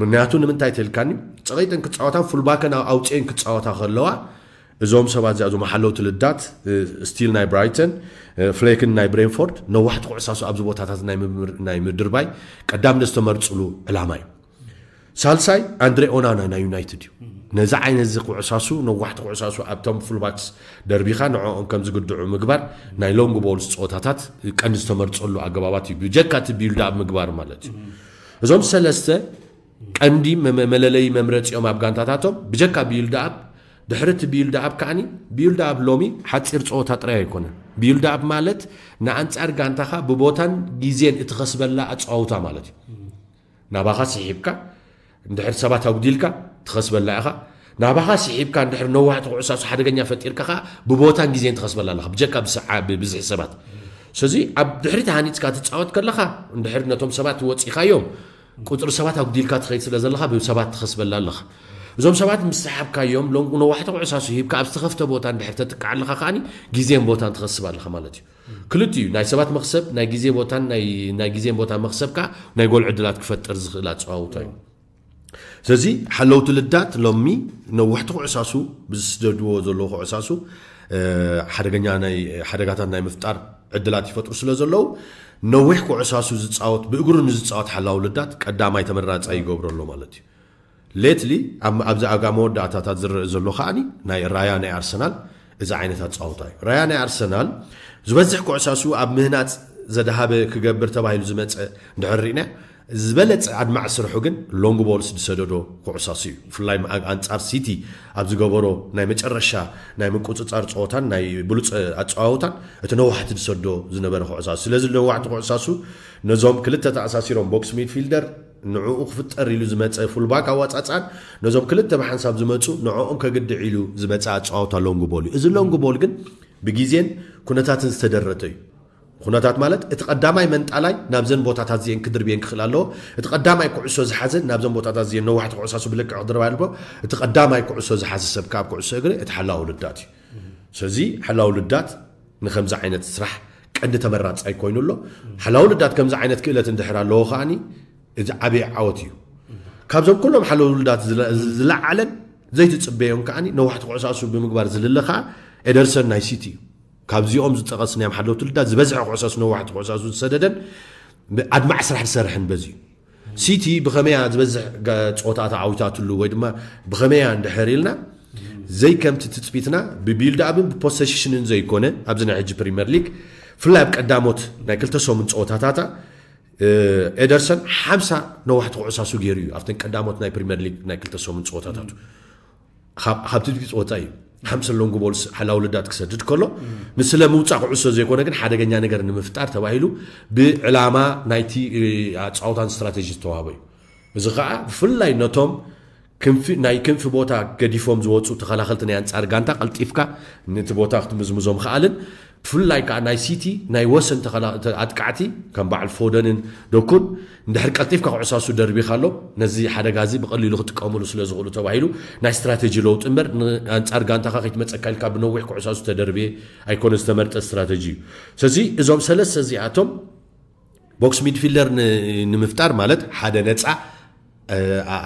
ምክንያቱ ንምንታይ ተልካኒ፣ ጸቂጠን ክጻወታን ፉልባከን ኣውፅኤን ክጻወታ ከለዋ፣ እዞም ሰባት እዚኣ እዞም ሓለውቲ ልዳት፣ ስቲል ናይ ብራይተን፣ ፍሌክን ናይ ብሬንፎርድ ነዋሕቲ ኩዕሳሱ ኣብዚ ቦታታት ናይ ምምር- ናይ ምድርባይ ቀዳም ዝተመርፅሉ ዕላማ እዩ። ሳልሳይ ኣንድሬ ኦናና ናይ ዩናይትድ እዩ። ነዚ ዓይነት እዚ ኩዕሳሱ ነዋሕቲ ኩዕሳሱ ኣብቶም ፉልባክስ ደርቢኻ ንዕኦም ከም ዝግድዑ ምግባር ናይ ሎንግ ቦልስ ፀወታታት ቀንዲ ዝተመርፀሉ ኣገባባት እዩ። ብጀካ እቲ ቢልድ ኣብ ምግባር ማለት እዩ። እዞም ሰለስተ ቀንዲ መ- መለለይ መምረፂኦም ኣብ ጋንታታቶም ብጀካ ቢልድ ኣብ ድሕሪ እቲ ቢልድ ኣብ ከዓኒ ቢልድ ኣብ ሎሚ ሓፂር ፀወታ ጥራይ ኣይኮነን። ቢልድ ኣብ ማለት ንኣንፃር ጋንታኻ ብቦታን ግዜን እትኸስበላ ኣፀዋውታ ማለት እዩ። ናባኻ ስሒብካ እንድሕር ሰባት ኣጉዲልካ ትኸስበላ ኢኻ። ናባኻ ስሒብካ እንድሕር ነዋሕቲ ኩዕሳሱ ሓደገኛ ፈጢርካ ኸዓ ብቦታን ግዜን ትኸስበላ ኣለኻ ብጀካ ብስዓ ብብዝሒ ሰባት። ስለዚ ኣብ ድሕሪት ሃኒፅካ ትፃወት ከለኻ እንድሕር ነቶም ሰባት ወፂኻዮም ቁፅሪ ሰባት ኣጉዲልካ ትኸይድ ስለ ዘለኻ ብሰባት ትኸስበላ ኣለኻ። እዞም ሰባት ምስ ሰሓብካዮም ሎም ነዋሕቲ ኩዕሳሱ ሂብካ ኣብ ዝተኸፍተ ቦታ እንድሕር ተጥቃዕ ኣለኻ ከዓኒ ግዜን ቦታን ትኸስብ ኣለኻ ማለት እዩ። ክልቲኡ ናይ ሰባት መኽሰብ ናይ ግዜ ቦታን ናይ ናይ ግዜን ቦታን መኽሰብ ከዓ ናይ ጎል ዕድላት ክፈጥር ዝኽእል ኣፀዋውታ እዩ። ስለዚ ሓለውቲ ልዳት ሎሚ ነዋሕቲ ኩዕሳሱ ብዝስደድዎ ዘለዉ ኩዕሳሱ ሓደገኛ ናይ ሓደጋታት ናይ ምፍጣር ዕድላት ይፈጥሩ ስለ ዘለዉ ነዊሕ ኩዕሳሱ ዝፃወት ብእግሩ ንዝፃወት ሓላው ልዳት ቀዳማይ ተመራፃይ ይገብሮ ኣሎ ማለት እዩ። ሌትሊ ኣብዚ ኣጋ መወዳእታታት ዝረአ ዘሎ ከዓኒ ናይ ራያ ናይ ኣርሰናል እዚ ዓይነት ኣፃውታ እዩ። ራያ ናይ ኣርሰናል ዝበዝሕ ኩዕሳሱ ኣብ ምህናፅ ዘድሃበ ክገብር ተባሂሉ ዝመፀ እንድሕር ርኢና ዝበለፀ ኣድማዕ ስርሑ ግን ሎንግ ቦልስ ዝሰደዶ ኩዕሳሱ እዩ። ብፍላይ ኣንፃር ሲቲ ኣብ ዝገበሮ ናይ መጨረሻ ናይ ምቁፅፃር ፀወታን ናይ ብሉፅ ኣፀዋውታን እቲ ነዋሕቲ ዝሰዶ ዝነበረ ኩዕሳሱ። ስለዚ ነዋሕቲ ኩዕሳሱ ነዞም ክልተ ተኣሳሲሮም ቦክስ ሚድፊልደር ንዕኡ ክፍጠር ኢሉ ዝመፀ ፉልባክ ኣዋፃፃን ነዞም ክልተ ብሓንሳብ ዝመፁ ንዕኦም ከግድዕ ኢሉ ዝመፀ ኣፀዋውታ ሎንግ ቦል እዩ። እዚ ሎንግ ቦል ግን ብግዜን ኩነታትን ዝተደረተ እዩ። ኩነታት ማለት እቲ ቀዳማይ መንጣላይ ናብዘን ቦታታት እዚአን ክድርብየን ክኽእል ኣለዎ። እቲ ቀዳማይ ኩዕሶ ዝሓዘ ናብዘን ቦታታት እዚአን ነዋሕቲ ኩዕሳሱ ብልክዕ ክድርባ ኣለዎ። እቲ ቀዳማይ ኩዕሶ ዝሓዘ ሰብ ካብ ኩዕሶ እግሪ እቲ ሓላው ልዳት እዩ። ስለዚ ሓላው ልዳት ንከምዚ ዓይነት ስራሕ ቀንዲ ተመራፃይ ኮይኑ ኣሎ። ሓላው ልዳት ከምዚ ዓይነት ክእለት እንድሕር ኣለዎ ከዓኒ እዚ ዓብዪ ዓወት እዩ። ካብዞም ኩሎም ሓለውቲ ልዳት ዝለዓለን ዘይትፅበዮም ከዓኒ ነዋሕቲ ኩዕሳሱ ብምግባር ዝልለ ከዓ ኤደርሰን ናይ ሲቲ እዩ። ካብዚኦም ዝጠቐስናዮም ሓለውቲ ልዳት ዝበዝሐ ኩዕሳሱ ነዋሕቲ ኩዕሳሱ ዝሰደደን ኣድማዕ ስራሕ ዝሰርሐን በዚ እዩ። ሲቲ ብኸመያ ዝበዝሕ ፀወታ ተዓዊታትሉ ወይ ድማ ብኸመያ እንድሕር ኢልና ዘይከምቲ ትፅቢትና ብቢልድ ኣብን ብፖሰሽንን ዘይኮነ ኣብዚ ናይ ሕጂ ፕሪምየር ሊግ ብፍላይ ኣብ ቀዳሞት ናይ ክልተ ሰሙን ፀወታታታ ኤደርሰን ሓምሳ ነዋሕቲ ኩዕሳሱ ገይሩ እዩ ኣብተን ቀዳሞት ናይ ፕሪምየር ሊግ ናይ ክልተ ሰሙን ፀወታታቱ። ካብ ትድቢ ፀወታ እዩ ሓምሳ ሎንግ ቦልስ ሓላው ልዳት ክሰድድ ከሎ ንስለ ምውፃእ ኩዕሶ ዘይኮነ ግን ሓደገኛ ነገር ንምፍጣር ተባሂሉ ብዕላማ ናይቲ ኣፃውታን ስትራቴጂ ዝተዋህበ እዩ። እዚ ከዓ ብፍላይ ነቶም ክንፊ ናይ ክንፊ ቦታ ገዲፎም ዝወፁ ተኸላኸልቲ ናይ ኣንፃር ጋንታ ቀልጢፍካ ነቲ ቦታ ክትምዝምዞ ምኽኣልን ብፍላይ ከዓ ናይ ሲቲ ናይ ወሰን ኣጥቃዕቲ ከም በዓል ፎደንን ደኩን እንድሕር ቀልጢፍካ ኩዕሳሱ ደርቢኻሎም ነዚ ሓደጋ እዚ ብቐሊሉ ክጥቀምሉ ስለ ዝኽእሉ ተባሂሉ ናይ ስትራቴጂ ለውጢ እምበር ንኣንፃር ጋንታኻ ከይትመፀካ ኢልካ ብነዊሕ ኩዕሳሱ ተደርብየ ኣይኮነ ዝተመርጠ ስትራቴጂ እዩ። ስለዚ እዞም ሰለስተ እዚኣቶም ቦክስ ሚድፊልደር ንምፍጣር ማለት ሓደ ነፃ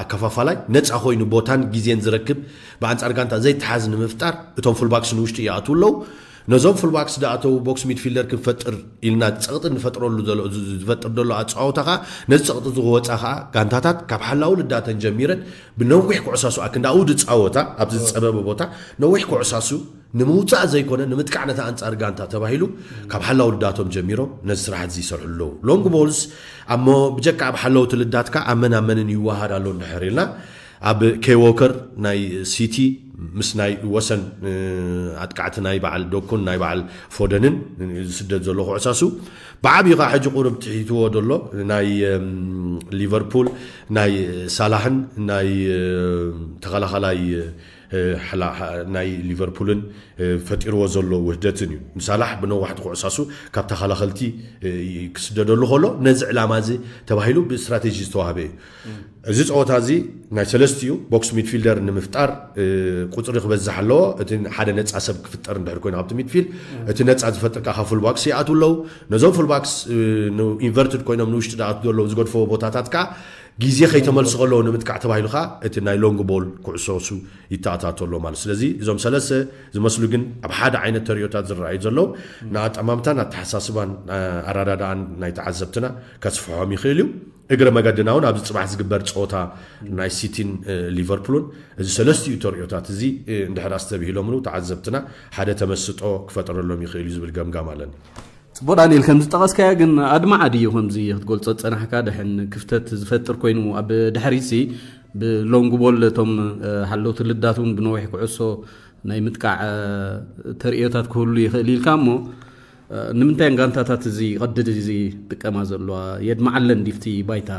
ኣከፋፋላይ ነፃ ኮይኑ ቦታን ግዜን ዝረክብ ብኣንፃር ጋንታ ዘይተሓዝ ንምፍጣር እቶም ፉልባክስ ንውሽጢ ይኣትዉ ኣለዉ። ነዞም ፉልባክስ ዝኣተዉ ቦክስ ሚድፊልደር ክንፈጥር ኢልና ፀቕጢ ንፈጥረሉ ዝፈጥር ዘሎ ኣፀዋውታ ከዓ ነዚ ፀቕጢ ዝወፃ ከዓ ጋንታታት ካብ ሓላው ልዳተን ጀሚረን ብነዊሕ ኩዕሳሱ ኣክንዳኡ ዝፃወታ ኣብዚ ዝፀበበ ቦታ ነዊሕ ኩዕሳሱ ንምውፃእ ዘይኮነ ንምጥቃዕ ነታ ኣንፃር ጋንታ ተባሂሉ ካብ ሓላው ልዳቶም ጀሚሮም ነዚ ስራሕት እዚ ይሰርሑ ኣለዉ። ሎንግ ቦልስ ኣሞ ብጀካ ኣብ ሓለውቲ ልዳትካ ኣብ መን ኣብ መንን ይወሃድ ኣሎ እንድሕር ኢልና ኣብ ኬይ ዎከር ናይ ሲቲ ምስ ናይ ወሰን ኣጥቃዕቲ ናይ በዓል ዶኩን ናይ በዓል ፎደንን ዝስደድ ዘሎ ኩዕሳሱ ብዓብዩ ከዓ ሕጂ ቁሩብ ትሒትዎ ዘሎ ናይ ሊቨርፑል ናይ ሳላሕን ናይ ተኸላኸላይ ናይ ሊቨርፑልን ፈጢርዎ ዘሎ ውህደትን እዩ። ንሳላሕ ብነዋሕቲ ኩዕሳሱ ካብ ተኸላኸልቲ ክስደደሉ ከሎ ነዚ ዕላማ እዚ ተባሂሉ ብስትራቴጂ ዝተዋህበ እዩ። እዚ ፀወታ እዚ ናይ ሰለስቲኡ ቦክስ ሚድፊልደር ንምፍጣር ቁፅሪ ክበዝሕ ኣለዎ። እቲ ሓደ ነፃ ሰብ ክፍጠር እንድሕር ኮይኑ ካብቲ ሚድፊል እቲ ነፃ ዝፈጥር ከዓ ፉልባክስ ይኣትዉ ኣለዉ። ነዞም ፉልባክስ ኢንቨርትድ ኮይኖም ንውሽጢ ዝኣትዉ ዘለዉ ዝገድፈዎ ቦታታት ከዓ ግዜ ከይተመልሱ ከለዉ ንምጥቃዕ ተባሂሉ ከዓ እቲ ናይ ሎንግ ቦል ኩዕሶ እሱ ይተኣታቶ ኣሎ ማለት። ስለዚ እዞም ሰለስተ ዝመስሉ ግን ኣብ ሓደ ዓይነት ተሪኦታት ዝረኣዩ ዘለዉ ንኣጠማምታን ኣተሓሳስባን ኣረዳድኣን ናይ ተዓዘብትና ከስፍሖም ይኽእል እዩ። እግረ መገድና እውን ኣብዚ ፅባሕ ዝግበር ፀወታ ናይ ሲቲን ሊቨርፑልን እዚ ሰለስቲኡ ተሪኦታት እዚ እንድሕር ኣስተብሂሎምሉ ተዓዘብትና ሓደ ተመስጦ ክፈጥረሎም ይኽእል እዩ ዝብል ገምጋም ኣለኒ። ፅቡቅ ዳንኤል፣ ከም ዝጠቐስካዮ ግን ኣድማዓዲ እዩ። ከምዚ ክትገልጾ ዝጸናሕካ ደሕን ክፍተት ዝፈጥር ኮይኑ ኣብ ድሕሪት ሲ ብሎንግ ቦል እቶም ሓለውቲ ልዳት እውን ብነዊሕ ኩዕሶ ናይ ምጥቃዕ ተርእዮታት ክህሉ ይኽእል ኢልካ እሞ ንምንታይ ጋንታታት እዚ ይቐድድ እዚ ጥቀማ ዘለዋ የድማዓለን ዲፍቲ ባይታ?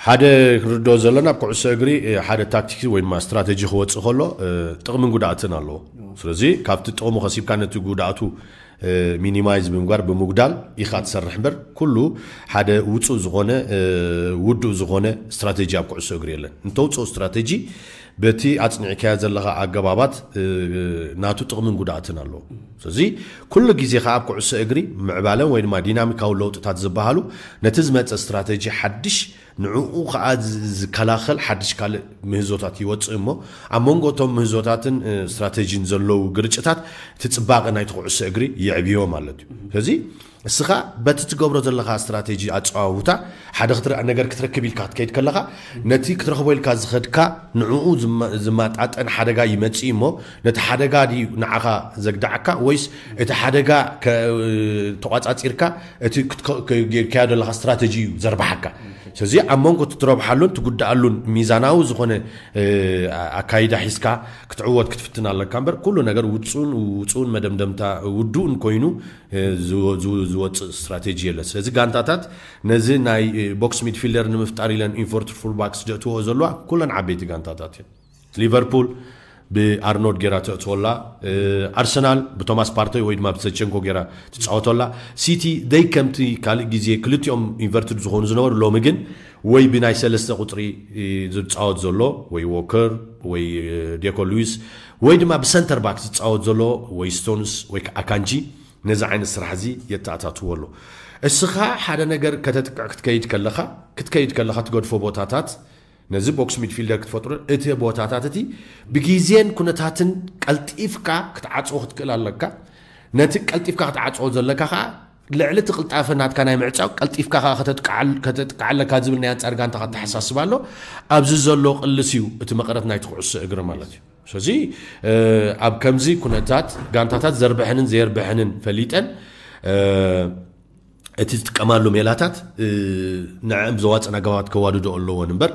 ሓደ ክንርድኦ ዘለና ኣብ ኩዕሶ እግሪ ሓደ ታክቲክ ወይ ድማ ስትራቴጂ ክወፅእ ከሎ ጥቕምን ጉድኣትን ኣለዎ። ስለዚ ካብቲ ጥቕሙ ከሲብካ ነቲ ጉድኣቱ ሚኒማይዝ ብምግባር ብምጉዳል ኢኻ ትሰርሕ እምበር ኩሉ ሓደ ውፁእ ዝኾነ ውዱእ ዝኾነ ስትራቴጂ ኣብ ኩዕሶ እግሪ የለን። እንተውፅኦ ስትራቴጂ በቲ ኣፅኒዕካዮ ዘለኻ ኣገባባት ናቱ ጥቕምን ጉድኣትን ኣለዎ። ስለዚ ኩሉ ግዜ ከዓ ኣብ ኩዕሶ እግሪ ምዕባለን ወይ ድማ ዲናሚካዊ ለውጥታት ዝበሃሉ ነቲ ዝመፀ ስትራቴጂ ሓድሽ ንዕኡ ከዓ ዝከላኸል ሓድሽ ካልእ ምህዞታት ይወፅእ እሞ ኣብ መንጎ እቶም ምህዞታትን ስትራቴጂን ዘለዉ ግርጭታት እቲ ፅባቐ ናይቲ ኩዕሶ እግሪ ይዕብዮ ማለት እዩ። ስለዚ እስኻ በቲ ትገብሮ ዘለኻ ስትራቴጂ ኣፀዋውታ ሓደ ክትረአ ነገር ክትረክብ ኢልካ ክትከይድ ከለኻ ነቲ ክትረኽቦ ኢልካ ዝኸድካ ንዕኡ ዝማጣጠን ሓደጋ ይመፅእ እሞ ነቲ ሓደጋ ድዩ ንዓኻ ዘግዳዓካ ወይስ እቲ ሓደጋ ተቋፃፂርካ እቲ ጌርካዮ ዘለኻ ስትራቴጂ እዩ ዘርባሓካ። ስለዚ ኣብ መንጎ ትረብሓሉን ትጉዳኣሉን ሚዛናዊ ዝኾነ ኣካይዳ ሒዝካ ክትዕወት ክትፍትን ኣለካ እምበር ኩሉ ነገር ውፁን ውፁን መደምደምታ ውዱእን ኮይኑ ዝወፅእ ስትራቴጂ የለን። ስለዚ ጋንታታት ነዚ ናይ ቦክስ ሚድፊልደር ንምፍጣር ኢለን ኢንቨርትድ ፉልባክስ ዘእትዎ ዘለዋ ኩለን ዓበይቲ ጋንታታት እየን። ሊቨርፑል ብኣርኖልድ ጌራ ተእትወላ፣ ኣርሰናል ብቶማስ ፓርተይ ወይ ድማ ብዘቸንኮ ጌራ ትፃወተላ፣ ሲቲ ደይ ከምቲ ካልእ ግዜ ክልቲኦም ኢንቨርትድ ዝኾኑ ዝነበሩ ሎሚ ግን ወይ ብናይ ሰለስተ ቁፅሪ ዝፃወት ዘሎ ወይ ዎከር ወይ ዴኮ ሉዊስ ወይ ድማ ብሰንተር ባክ ዝፃወት ዘሎ ወይ ስቶንስ ወይ ከዓ ኣካንጂ ነዚ ዓይነት ስራሕ እዚ የተኣታትዎ ኣሎ። እስኻ ሓደ ነገር ከተጥቅዕ ክትከይድ ከለኻ ክትከይድ ከለኻ ትገድፎ ቦታታት ነዚ ቦክስ ሚድፊልደር ክትፈጥሮ እቲ ቦታታት እቲ ብግዜን ኩነታትን ቀልጢፍካ ክትዓፅዎ ክትክእል ኣለካ። ነቲ ቀልጢፍካ ክትዓፅዎ ዘለካ ከዓ ልዕሊ እቲ ቅልጣፈ ናትካ ናይ ምዕፃው ቀልጢፍካ ከዓ ከተጥቃዕ ኣለካ ዝብል ናይ ኣንፃር ጋንታ ከተሓሳስብ ኣሎ። ኣብዚ ዘሎ ቅልስ እዩ እቲ መቐረት ናይቲ ኩዕሶ እግሪ ማለት እዩ። ስለዚ ኣብ ከምዚ ኩነታት ጋንታታት ዘርብሐንን ዘየርብሐንን ፈሊጠን እቲ ዝጥቀማሉ ሜላታት ንዕም ዘዋፅን ኣገባባት ከዋድዶ ኣለዎን እምበር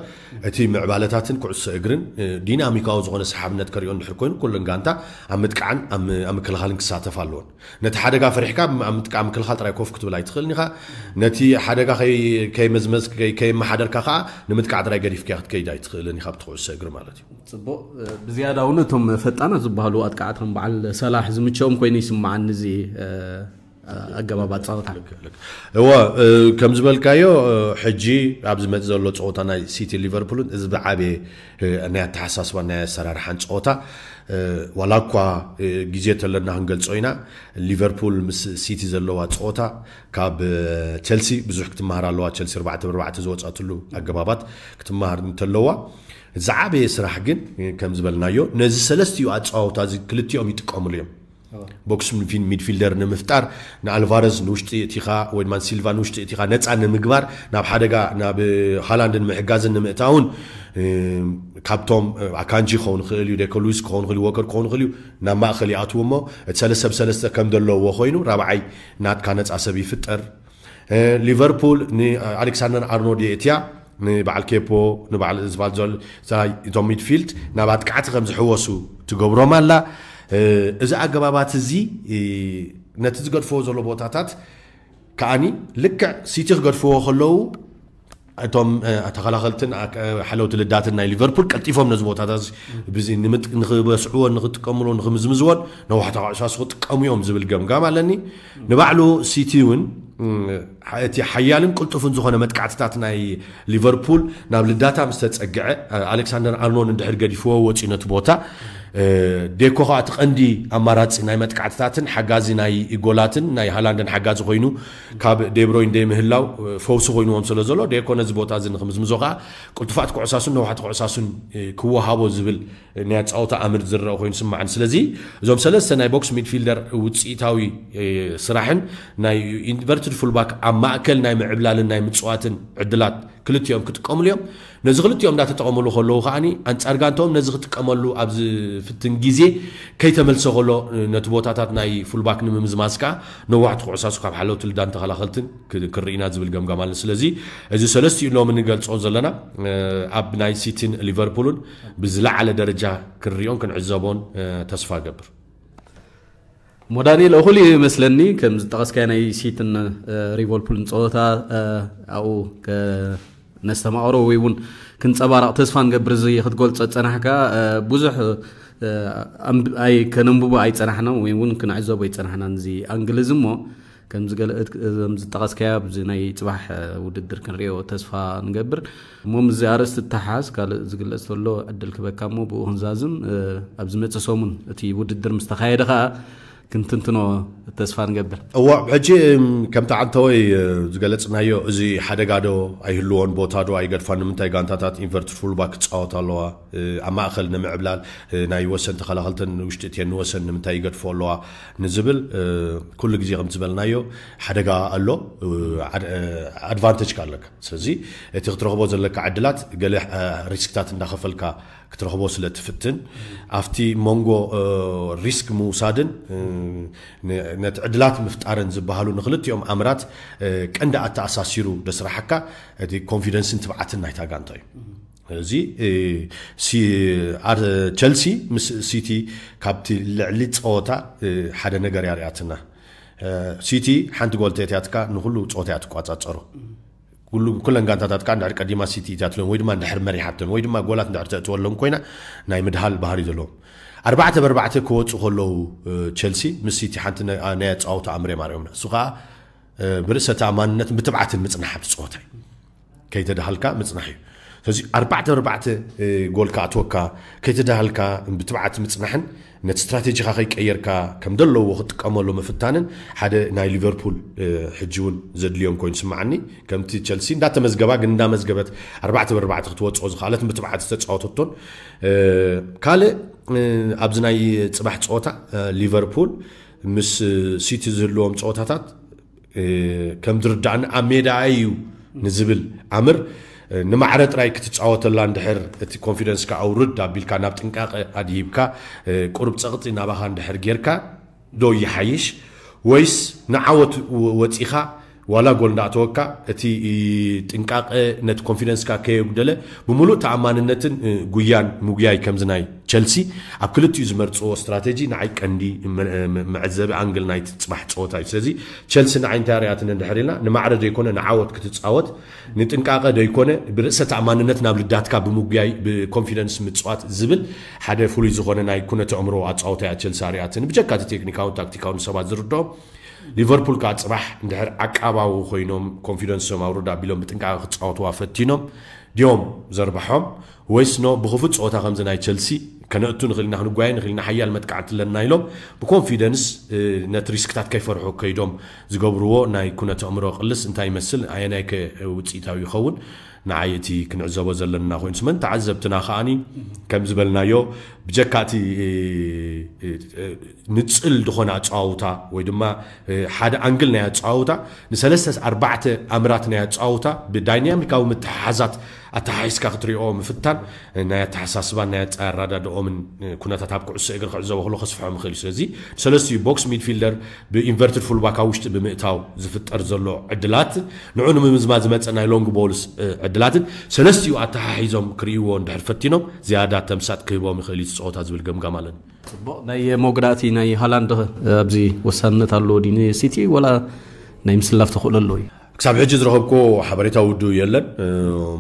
እቲ ምዕባለታትን ኩዕሶ እግርን ዲናሚካዊ ዝኾነ ሰሓብነት ከሪኦ እንድሕር ኮይኑ ኩለን ጋንታ ኣብ ምጥቃዕን ኣብ ምክልኻልን ክሳተፍ ኣለዎን። ነቲ ሓደጋ ፈሪሕካ ኣብ ምጥቃዕ ምክልኻል ጥራይ ኮፍ ክትብል ኣይትኽእልን ኢኻ። ነቲ ሓደጋ ከይመዝመዝ ከይመሓደርካ ከዓ ንምጥቃዕ ጥራይ ገዲፍካ ክትከይድ ኣይትኽእልን ኢኻ ብቲ ኩዕሶ እግሪ ማለት እዩ። ፅቡቅ። ብዝያዳ እውን እቶም ፈጣናት ዝበሃሉ ኣጥቃዕቲ ከም በዓል ሰላሕ ዝምቸኦም ኮይኑ ይስምዓኒ እዚ ኣገባብ ኣፃወታ። እወ፣ ከም ዝበልካዮ ሕጂ ኣብ ዝመፅእ ዘሎ ፀወታ ናይ ሲቲ ሊቨርፑልን እዚ ብዓበየ ናይ ኣተሓሳስባ ናይ ኣሰራርሓን ፀወታ ዋላ እኳ ግዜ ተለና ክንገልፆ ኢና። ሊቨርፑል ምስ ሲቲ ዘለዋ ፀወታ ካብ ቸልሲ ብዙሕ ክትመሃር ኣለዋ። ቸልሲ ኣርባዕተ ብኣርባዕተ ዝወፃትሉ ኣገባባት ክትመሃር እንተለዋ ዝዓበየ ስራሕ ግን ከም ዝበልናዮ ነዚ ሰለስቲኡ ኣፀዋውታ እዚ ክልቲኦም ይጥቀምሉ እዮም። ቦክስ ሚድፊልደር ንምፍጣር ንኣልቫረዝ ንውሽጢ እቲኻ ወይ ድማ ሲልቫ ንውሽጢ እቲኻ ነፃ ንምግባር ናብ ሓደጋ ናብ ሃላንድን ምሕጋዝን ንምእታውን ካብቶም ኣካንጂ ክኸውን ይኽእል እዩ፣ ዴኮ ሉዊስ ክኸውን ይኽእል እዩ፣ ዎከር ክኸውን ይኽእል እዩ፣ ናብ ማእኸል ይኣትዉ እሞ እቲ ሰለስተ ብሰለስተ ከም ዘለዎ ኮይኑ ራብዓይ ናትካ ነፃ ሰብ ይፍጠር። ሊቨርፑል ንኣሌክሳንደር ኣርኖልድ የእትያ ንበዓል ኬፖ ንበዓል ዝቫልዞል እቶም ሚድፊልድ ናብ ኣጥቃዕቲ ከም ዝሕወሱ ትገብሮም ኣላ። እዚ ኣገባባት እዚ ነቲ ዝገድፍዎ ዘሎ ቦታታት ከዓኒ ልክዕ ሲቲ ክገድፍዎ ከለዉ እቶም ተኸላኸልትን ሓለውቲ ልዳትን ናይ ሊቨርፑል ቀልጢፎም ነዚ ቦታታት ንክበስዕዎን ንክጥቀምሎን ንክምዝምዝዎን ነዋሕታ ኩዕሳሱ ክጥቀሙ እዮም ዝብል ገምጋም ኣለኒ። ንባዕሉ ሲቲ እውን እቲ ሓያልን ቅልጡፍን ዝኾነ መጥቃዕትታት ናይ ሊቨርፑል ናብ ልዳታ ምስ ተጸግዐ ኣሌክሳንደር ኣርኖልድ እንድሕር ገዲፍዎ ወፂኡ ነቲ ቦታ፣ ዴኮ ከዓ እቲ ቀንዲ ኣማራፂ ናይ መጥቃዕትታትን ሓጋዚ ናይ ጎላትን ናይ ሃላንድን ሓጋዚ ኮይኑ ካብ ዴብሮይን ደይምህላው ፈውሲ ኮይንዎም ስለ ዘሎ ዴኮ ነዚ ቦታ እዚ ንክምዝምዞ ከዓ ቅልጡፋት ኩዕሳሱን ነዋሕቲ ኩዕሳሱን ክወሃቦ ዝብል ናይ ኣጻወታ ኣምር ዝረአ ኮይኑ ስማዕን። ስለዚ እዞም ሰለስተ ናይ ቦክስ ሚድፊልደር ውፅኢታዊ ስራሕን ናይ ኢንቨርትድ ፉልባክ ኣብ ማእከል ናይ ምዕብላልን ናይ ምፅዋትን ዕድላት ክልቲኦም ክጥቀምሉ እዮም። ነዚ ክልቲኦም እንዳተጠቐምሉ ከለዉ ከዓኒ ኣንጻር ጋንታኦም ነዚ ክጥቀመሉ ኣብ ዝፍትን ግዜ ከይተመልሰ ከሎ ነቲ ቦታታት ናይ ፉልባክ ንምምዝማዝ ከዓ ነዋሕቲ ኩዕሳሱ ካብ ሓለውቲ ልዳን ተኸላኸልትን ክርኢና ዝብል ገምጋም ኣለን። ስለዚ እዚ ሰለስቲኡ ሎሚ ንገልጾ ዘለና ኣብ ናይ ሲቲን ሊቨርፑልን ብዝለዓለ ደረጃ ክንሪኦን ክንዕዘቦን ተስፋ ገብር። ሞዳኒ ለእኹል ይመስለኒ ከም ዝጠቐስካዮ ናይ ሲትን ሊቨርፑልን ፀወታ ኣብኡ ነስተማቕሮ ወይ እውን ክንፀባረቕ ተስፋ ንገብር። እዚ ክትገልፆ ዝፀናሕካ ብዙሕ ኣይ ከነንብቦ ኣይፀናሕና ወይ እውን ክንዕዘቦ ኣይፀናሕና እዚ ኣንግል እዚ እሞ ከም ዝጠቐስካዮ ኣብዚ ናይ ፅባሕ ውድድር ክንሪኦ ተስፋ ንገብር። እሞ ምስዚ ኣርእስቲ ተሓዝ ካልእ ዝግለፅ ተሎ ዕድል ክበካ እሞ ብኡ ክንዛዝም። ኣብ ዝመፅእ ሰሙን እቲ ውድድር ምስ ተኻየደ ከዓ ክንትንትኖ ተስፋ ንገብር። እዋ ሕጂ ከምቲ ዓንተወይ ዝገለፅናዮ እዚ ሓደጋ ዶ ኣይህልዎን ቦታ ዶ ኣይገድፋን ንምንታይ ጋንታታት ኢንቨርትድ ፉልባክ ክፃወት ኣለዋ ኣብ ማእኸል ንምዕብላል ናይ ወሰን ተኸላኸልተን ንውሽጢ እትየን ንወሰን ንምንታይ ይገድፎ ኣለዋ ንዝብል ኩሉ ግዜ ከም ዝበልናዮ ሓደጋ ኣሎ ኣድቫንቴጅ ኣለካ። ስለዚ እቲ ክትረኽቦ ዘለካ ዕድላት ገለ ሪስክታት እንዳኸፈልካ ክትረኽቦ ስለ ትፍትን ኣብቲ መንጎ ሪስክ ምውሳድን ነቲ ዕድላት ምፍጣርን ዝበሃሉ ንክልቲኦም ኣምራት ቀንዲ ኣተኣሳሲሩ ደስራሓካ እቲ ኮንፊደንስን ትብዓትን ናይታ ጋንታ እዩ። እዚ ቸልሲ ምስ ሲቲ ካብቲ ልዕሊ ፀወታ ሓደ ነገር ያርያትና። ሲቲ ሓንቲ ጎል ተእትያትካ ንኩሉ ፀወታ እያ ትቋፃፀሮ። ኩለን ጋንታታት ከዓ እንድሕር ቀዲማ ሲቲ እትያትለን ወይ ድማ እንድሕር መሪሓተን ወይ ድማ ጎላት እንድሕር ተእትወሎም ኮይና ናይ ምድሃል ባህሪ ዘለዎም ኣርባዕተ ብኣርባዕተ ክወፁ ከለዉ ቸልሲ ምስ ሲቲ ሓንቲ ናይ ኣፃወታ ኣምር እዮም ኣርዮምና። እሱ ከዓ ብርእሰ ተኣማንነትን ብትብዓትን ምፅናሕ ኣብቲ ፀወታ እዩ። ከይተዳሃልካ ምፅናሕ እዩ። ስለዚ ኣርባዕተ ኣርባዕተ ጎል ክኣትወካ ከይተዳሃልካ ብትብዓት ምፅናሕን ነቲ ስትራቴጂካ ከይቀየርካ ከም ዘለዎ ክጥቀመሉ ምፍታንን ሓደ ናይ ሊቨርፑል ሕጂ እውን ዘድልዮም ኮይኑ ስምዓኒ። ከምቲ ቸልሲ እንዳተመዝገባ ግን እንዳመዝገበት ኣርባዕተ ብኣርባዕተ ክትወፅኦ ዝኽኣለት ብትብዓት ዝተፃወተቶን ካልእ ኣብዚ ናይ ፅባሕ ፀወታ ሊቨርፑል ምስ ሲቲ ዝህልዎም ፀወታታት ከም ዝርዳእኒ ኣብ ሜዳ እዩ ንዝብል ኣምር ንማዕረ ጥራይ ክትፃወተላ እንድሕር እቲ ኮንፊደንስካ ኣውርድ ኣቢልካ ናብ ጥንቃቐ ኣድሂብካ ቁሩብ ፀቕጢ ናባኻ እንድሕር ጌርካ ዶ ይሓይሽ ወይስ ንዓወት ወፂኻ ዋላ ጎል እንዳእተወካ እቲ ጥንቃቐ ነቲ ኮንፊደንስካ ከየጉደለ ብምሉእ ተኣማንነትን ጉያን ምጉያይ ከምዚ ናይ ቸልሲ ኣብ ክልቲኡ ዝመርፅዎ ስትራቴጂ ንዓይ ቀንዲ መዐዘቢ ኣንግል ናይቲ ፅባሕ ፀወታ እዩ። ስለዚ ቸልሲ ንዓይ እንታይ ርያትን እንድሕር ኢልና ንማዕረ ዘይኮነ ንዓወት ክትፃወት ንጥንቃቐ ዘይኮነ ብርእሰ ተኣማንነት ናብ ልዳትካ ብምጉያይ ብኮንፊደንስ ምፅዋት ዝብል ሓደ ፍሉይ ዝኾነ ናይ ኩነተ ኣእምሮ ኣፃወታ እያ ቸልሲ ኣርያትን ብጀካ እቲ ቴክኒካውን ታክቲካውን ሰባት ዝርድኦም ሊቨርፑል ከዓ ፅባሕ እንድሕር ዓቃባዊ ኮይኖም ኮንፊደንሶም ኣውርድ ኣቢሎም ብጥንቃቐ ክፃወትዋ ፈቲኖም ድዮም ዘርባሖም ወይስ ኖ ብክፉት ፀወታ ከምዚ ናይ ቸልሲ ከነእቱ ንኽእል ኢና ክንጓየ ንኽእል ኢና ሓያል መጥቃዕቲ ኣለና ኢሎም ብኮንፊደንስ ነቲ ሪስክታት ከይፈርሑ ከይዶም ዝገብርዎ ናይ ኩነተ ኣእምሮ ቅልስ እንታይ ይመስል ኣየናይ ከ ውፅኢታዊ ይኸውን ንዓይ እቲ ክንዕዘቦ ዘለና ኮይኑ ስመን ተዓዘብትና ከዓኒ ከም ዝበልናዮ ብጀካ እቲ ንፅል ዝኾነ ኣፀዋውታ ወይ ድማ ሓደ ኣንግል ናይ ኣፀዋውታ ንሰለስተ ኣርባዕተ ኣምራት ናይ ኣፀዋውታ ብዳይናሚካዊ ምትሓሓዛት ኣተሓሒዝካ ክትሪኦ ምፍታን ናይ ኣተሓሳስባን ናይ ኣረዳድኦምን ኩነታት ኣብ ኩዕሶ እግሪ ክዕዘቦ ከሎ ከስፍሖም ይኽእል እዩ። ስለዚ ንሰለስቲኡ ቦክስ ሚድፊልደር ብኢንቨርትድ ፉልባክ ኣብ ውሽጢ ብምእታው ዝፍጠር ዘሎ ዕድላት ንዑ ንምምዝማዝ ዝመፀ ናይ ሎንግ ቦልስ ዕድላትን ሰለስቲኡ ኣተሓሒዞም ክርእይዎ እንድሕር ፈቲኖም ዝያዳ ተምሳጥ ክህቦም ይኽእል እዩ እቲ ፀወታ ዝብል ገምጋም ኣለኒ። ፅቡቕ ናይ መጉዳእቲ ናይ ሃላንድ ኣብዚ ወሳንነት ኣለዎ ድዩ ንሲቲ ወላ ናይ ምስላፍ ተኽእሎ ኣለዎ እዩ? ክሳብ ሕጂ ዝረኸብኮ ሓበሬታ ውዱ የለን።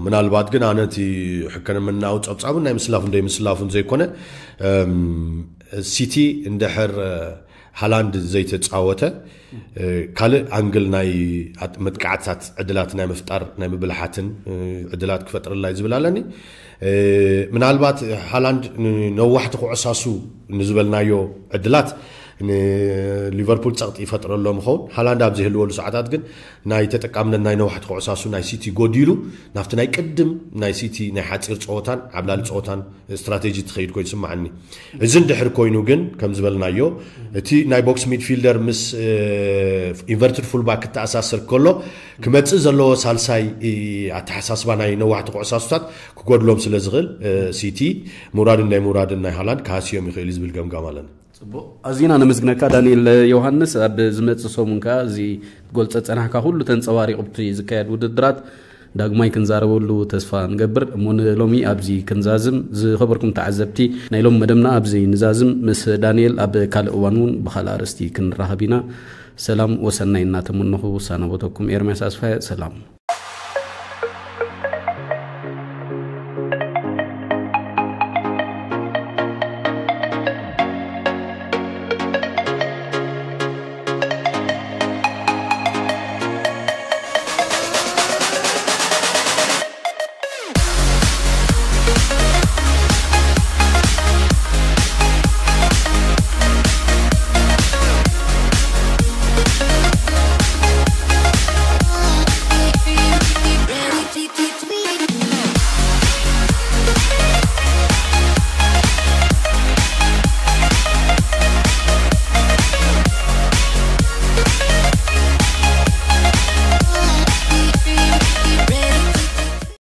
ምናልባት ግን ኣነ እቲ ሕክምናዊ ጸብጻቡን ናይ ምስላፉን ደይ ምስላፉን ዘይኮነ፣ ሲቲ እንድሕር ሃላንድ ዘይተጻወተ፣ ካልእ ኣንግል ናይ መጥቃዕትታት ዕድላት ናይ ምፍጣር ናይ ምብልሓትን ዕድላት ክፈጥርላይ ዝብል ኣለኒ። ምናልባት ሃላንድ ነዋሕቲ ክዕሳሱ ንዝበልናዮ ዕድላት ንሊቨርፑል ጸቕጢ ይፈጥረሎም ይኸውን። ሃላንድ ኣብ ዝህልወሉ ሰዓታት ግን ናይ ተጠቃምነት ናይ ነዋሕቲ ክዕሳሱ ናይ ሲቲ ጎዲሉ ናብቲ ናይ ቅድም ናይ ሲቲ ናይ ሓጺር ጸወታን ዓብላሊ ጸወታን ስትራቴጂ ትኸይድ ኮይኑ ስማዓኒ። እዚ እንድሕር ኮይኑ ግን ከም ዝበልናዮ እቲ ናይ ቦክስ ሚድፊልደር ምስ ኢንቨርትድ ፉልባክ ክተኣሳሰር ከሎ ክመጽእ ዘለዎ ሳልሳይ ኣተሓሳስባ ናይ ነዋሕቲ ክዕሳሱታት ክጎድሎም ስለ ዝኽእል፣ ሲቲ ምውራድን ናይ ምውራድን ናይ ሃላንድ ክሃስዮም ይኽእል እዩ ዝብል ገምጋም ኣለና። ጽቡቕ። ኣዚና ነመስግነካ ዳንኤል ዮሃንስ። ኣብ ዝመጽእ ሰሙን ከኣ እዚ ጎል ጸጸናሕካ ኩሉ ተንጸባሪቑ ኣብቲ ዝካየድ ውድድራት ዳግማይ ክንዛረበሉ ተስፋ ንገብር። እሞ ንሎሚ ኣብዚ ክንዛዝም። ዝኸበርኩም ተዓዘብቲ፣ ናይ ሎም መደብና ኣብዚ ንዛዝም። ምስ ዳንኤል ኣብ ካልእ እዋን እውን ብኻልእ ኣርእስቲ ክንራኸብ ኢና። ሰላም ወሰናይ እናተመነኹ ሳናበተኩም ኤርምያስ ኣስፋየ። ሰላም።